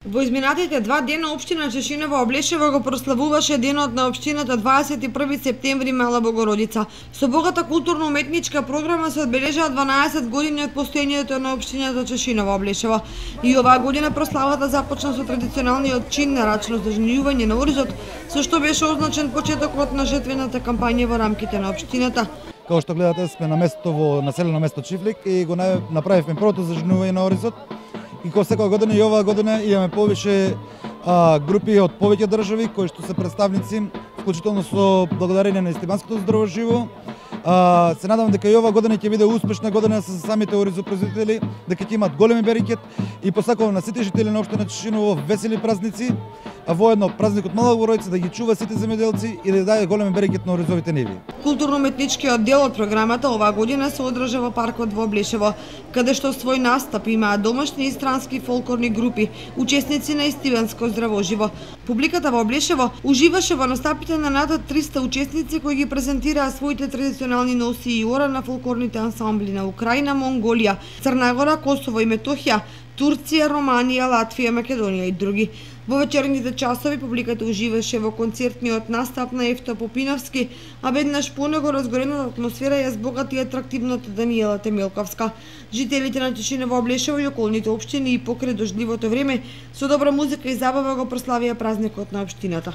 Во изминатите 2 дена општина Чешиново Облешево го прославуваше денот на општината 21 септември Мала Богородица. Со богата културно-уметничка програма се одбележаа 12 години од постоењето на општината Чешиново Облешево. И оваа година прославата започна со традиционалниот чин нарачно зажнејување на оризот, со што беше означен почетокот на жетвената кампања во рамките на општината. Како што гледате, сме на место во населено место Чифлик и го направивме првото зажнејување на оризот. И како секоја година и оваа година имаме повише групи од повеќе држави кои што се представници, вклучително со благодарение на Истибанското здраво живо. Се надам дека и оваа година ќе биде успешна година со самите оризопроизводители, дека ќе имат големи берекет и посакувам на сите жители на општина Чешиново весели празници, а воедно празникот Мала Богородица да ги чува сите земјоделци и да даде големи берекет на оризовите ниви. Културно-уметничкиот дел од програмата оваа година се одржа во паркот во Облешево, каде што свој настап имаат домашни и странски фолклорни групи, учесници на Истибанско здраво живо. Публиката во Облешево уживаше во настапите на над 300 учесници кои ги презентираа своите традиционални носи и ора на фолклорните ансамбли на Украина, Монголија, Црна Гора, Косово и Метохија, Турција, Романија, Латвија, Македонија и други. Во вечерните часови публиката уживаше во концертниот настап на Евто Попиновски, а веднаш понего разгорената атмосфера ја збогати атрактивната Даниела Темелковска. Жителите на Чешиново Облешево и околните општини и покрај дождливото време со добра музика и забава го прославија празникот на општината.